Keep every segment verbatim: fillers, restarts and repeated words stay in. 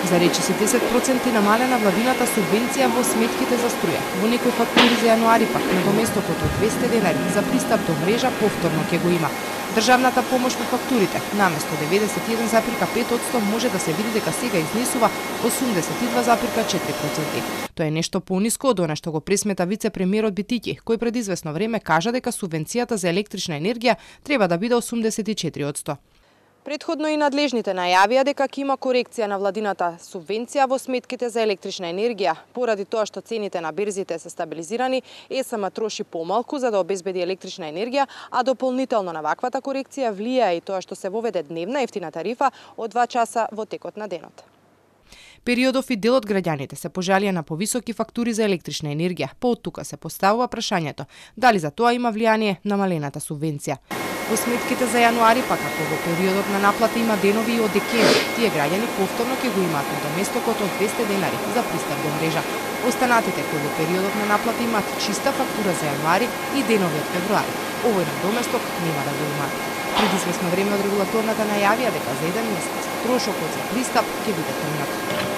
За речиси десет проценти намалена владината субвенција во сметките за струја. Во некои фактури за јануари пак надоместокот од двесте денари за пристап до мрежа повторно ќе го има. Државната помош во фактурите наместо деветдесет и еден запирка пет одсто може да се види дека сега изнесува осумдесет и два запирка четири проценти. Тоа е нешто пониско од она што го пресмета вице-премиерот Битики, кој пред извесно време кажа дека субвенцијата за електрична енергија треба да биде осумдесет и четири одсто. Предходно и надлежните најавија дека ќе има корекција на владината субвенција во сметките за електрична енергија. Поради тоа што цените на берзите се стабилизирани, ЕСМ троши помалку за да обезбеди електрична енергија, а дополнително на ваквата корекција влијае и тоа што се воведе дневна ефтина тарифа од два часа во текот на денот. Периодов и дел од граѓаните се пожалија на повисоки фактури за електрична енергија. По оттука се поставува прашањето дали за тоа има влијание намалената субвенција. Во сметките за јануари, пак ако во периодот на наплата има денови и од декември, тие граѓани повторно ќе го имаат надоместокот од двесте денари за пристап до мрежа. Останатите кои во периодот на наплата имаат чиста фактура за јануари и денови од февруари, овој надоместок нема да го имаат. Пред извесно време од регулаторната најавија дека за еден месец трошокот за пристап ќе биде темнат.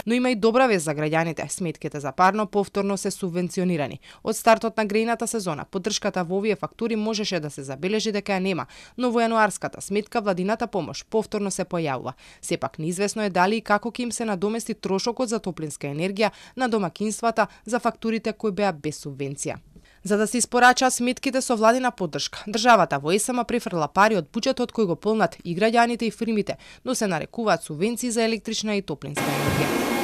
Но има и добра вест за граѓаните. Сметките за парно повторно се субвенционирани. Од стартот на грејната сезона, поддршката во овие фактури можеше да се забележи дека ја нема, но во јануарската сметка владината помош повторно се појавува. Сепак неизвестно е дали и како ќе им се надомести трошокот за топлинска енергија на домакинствата за фактурите кои беа без субвенција. За да се испорачаат сметките со владина поддршка, државата во ЕСМ префрла пари од буџетот кој го полнат и граѓаните и фирмите, но се нарекуваат субвенции за електрична и топлинска енергија.